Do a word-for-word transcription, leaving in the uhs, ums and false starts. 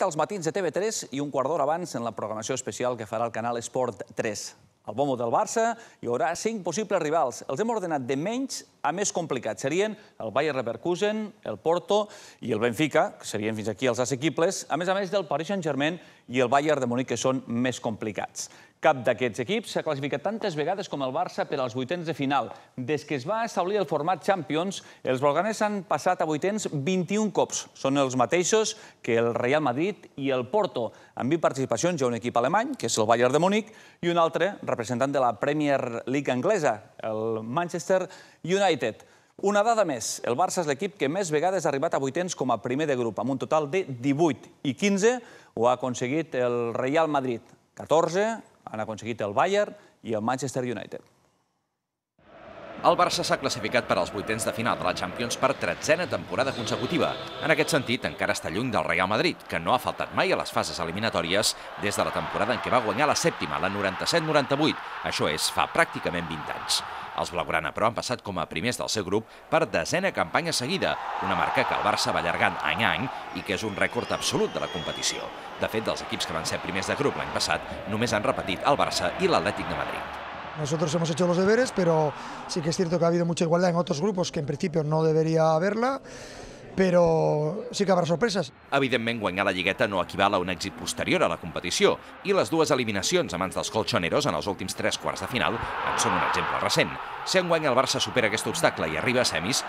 als matins de T V tres i un quart d'hora abans en la programació especial que farà el canal Esport tres. Al bombo del Barça hi haurà cinc possibles rivals. Els hem ordenat de menys a més complicats. Serien el Bayer Leverkusen, el Porto i el Benfica, que serien fins aquí els assequibles, a més a més del Paris Saint-Germain i el Bayern de Munic, que són més complicats. Cap d'aquests equips s'ha classificat tantes vegades com el Barça per als vuitens de final. Des que es va establir el format Champions, els blaugranes han passat a vuitens vint-i-un cops. Són els mateixos que el Real Madrid i el Porto. Amb vint participacions hi ha un equip alemany, que és el Bayern de Munic, i un altre representant de la Premier League anglesa, el Manchester United. Una dada més, el Barça és l'equip que més vegades ha arribat a vuitens com a primer de grup, amb un total de divuit, i quinze ho ha aconseguit el Real Madrid. catorze han aconseguit el Bayern i el Manchester United. El Barça s'ha classificat per als vuitens de final de la Champions per tretzena temporada consecutiva. En aquest sentit, encara està lluny del Real Madrid, que no ha faltat mai a les fases eliminatòries des de la temporada en què va guanyar la sèptima, la noranta-set noranta-vuit. Això és, fa pràcticament vint anys. Els blaugrana, però, han passat com a primers del seu grup per desena campanya seguida, una marca que el Barça va allargant any a any i que és un rècord absolut de la competició. De fet, dels equips que van ser primers de grup l'any passat, només han repetit el Barça i l'Atlètic de Madrid. Nosotros hemos hecho los deberes, pero sí que es cierto que ha habido mucha igualdad en otros grupos que en principio no debería haberla, però sí que habrá sorpreses. Evidentment, guanyar la Lligueta no equival a un èxit posterior a la competició, i les dues eliminacions a mans dels colchoneros en els últims tres quarts de final en són un exemple recent. Si enguany el Barça supera aquest obstacle i arriba a semis,